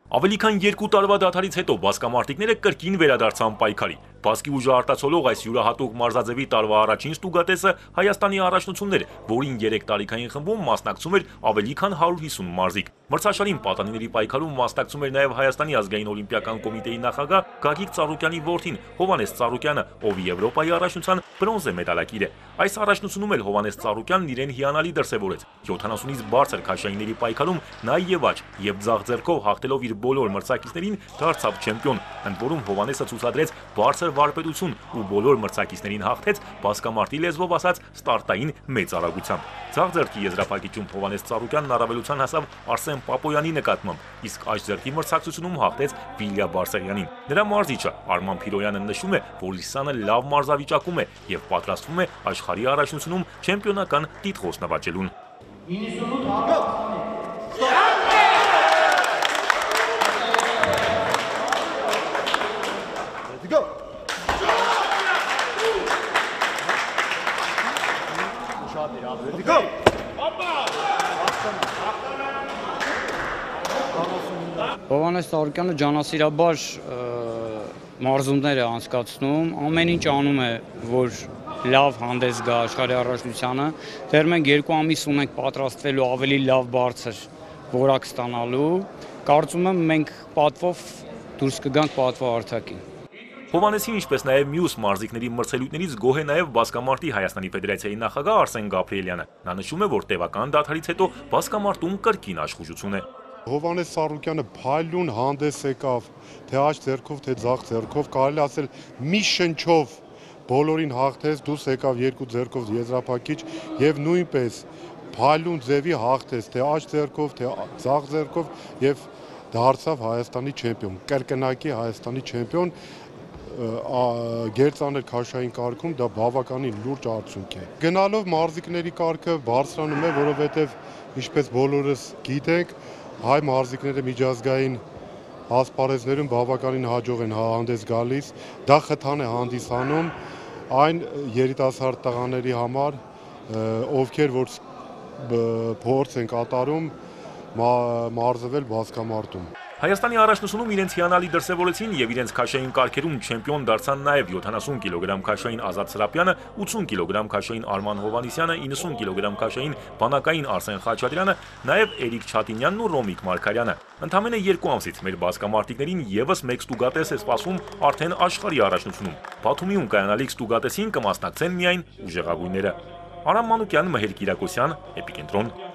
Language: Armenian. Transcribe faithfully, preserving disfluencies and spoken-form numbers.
Ավելի քան երկու տարվա դադարից հետո բասկամարտիկները կրկին վերադարձան պայքարի։ Բասկի ուժը արտացոլող այս յուրահատուկ մարզաձևի տարվա առաջին ստուգատեսը Հայաստանի առաջնությունն էր, որին երեք տարիքային խմբում մասնակցում էր ավելի քան հարյուր հիսուն մարզիկ։ Մրցաշարին պատանիների պայքարում մասնակցում էր նաև Հայաստանի ազգային օլիմպիական կոմիտեի նախագահ Գագիկ Ծառուկյանի որդին Հովհաննես Ծառուկյանը, ով Եվրոպայի առաջնության բրոնզե մեդալակիր է։ Այս առաջնությունում էլ Հովհաննես Ծառուկյանն իրեն հիանալի դրսևորեց։ յոթանասունից բարձր քաշայինների պայքարում նա եւ աջ եւ ձախ ձեռքով հաղթելով իր բոլոր մրցակիցներին դարձավ չեմպիոն, ընդ որում Հովհաննեսը ցուցադրեց բարձր վարպետություն ու բոլոր մրցակիցներին հաղթեց բասկամարտի լեզվով ասած ստարտային մեծ արագությամբ։ Ձախ ձեռքի եզրափակիչում Հովհաննես Ծառուկյանն առավելության հասավ Արսեն Պապոյանի նկատմամբ, իսկ աջ ձեռքի մրցակցությունում հաղթեց Վիլյա Բարսեղյանին։ Նրա մարզիչը Արման Փիրոյանը նշում է, որ Իսանը լավ մարզավիճակում է եւ պատրաստվում է աշխարհի առաջնությունում չեմպիոնական տիտղոս նվաճելուն։ Հովհաննես Ծառուկյանը ջանասիրաբար մարզումներ է անցկացնում, ամեն ինչ անում է, որ լավ հանդես գա աշխարհի առաջնությանը, դեռ մենք երկու ամիս ունենք պատրաստվելու ավելի լավ բարձր որակ ստանալու, կարծում եմ մենք պատվով դուրս կգանք պատվո հարթակին։ Հովհաննեսին, ինչպես նաև մյուս մարզիկների մրցելույթներից գոհ է նաև բասկամարտի Հայաստանի Ֆեդերացիայի նախագահ Արսեն Գաբրիելյանը։ Նա նշում է, որ տևական դադարից հետո բասկամարտում կրկին աշխուժություն է։ Հովհաննես Ծառուկյանը փայլուն հանդես եկավ, թե աջ ձեռքով, թե ձախ ձեռքով, կարելի ասել մի շնչով բոլորին հաղթեց, դուրս եկավ երկու ձեռքով եզրափակիչ եւ նույնպես փայլուն ձևի հաղթեց, թե աջ ձեռքով, թե ձախ ձեռքով եւ դարձավ Հայաստանի չեմպիոն, կրկնակի Հայաստանի չեմպիոն։ Գերծանր քաշային կարգում դա բավականին լուրջ արդյունք է։ Գնալով մարզիկների կարգը բարձրանում է, որովհետև ինչպես բոլորս գիտենք, հայ մարզիկները միջազգային ասպարեզներում բավականին հաջող են հանդես գալիս, դա խթան է հանդիսանում այն երիտասարդ տղաների համար, ովքեր որ փորձ են կատարում մարզվել բասկամարտում։ Հայաստանի առաջնությունում իրենց հիանալի դրսևորեցին եւ իրենց քաշային կարգերում չեմպիոն դարձան նաեւ յոթանասուն կիլոգրամ քաշային Ազատ Սրապյանը, ութսուն կիլոգրամ քաշային Արման Հովհաննիսյանը, իննսուն կիլոգրամ քաշային բանակային Արսեն Խաչատրյանը, նաեւ Էրիկ Չատինյանն ու Ռոմիկ Մարգարյանը։ Ընդամենը երկու ամսից մեր բասկամարտիկներին եւս մեկ ստուգատես է սպասում արդեն աշխարհի առաջնությունում։ Բաթումիում կայանալիք ստուգատեսին կմասնակցեն միայն ուժեղագույնները։ Արամ Մանուկյան, Մհեր Կիրակոսյան, Էպիկենտրոն։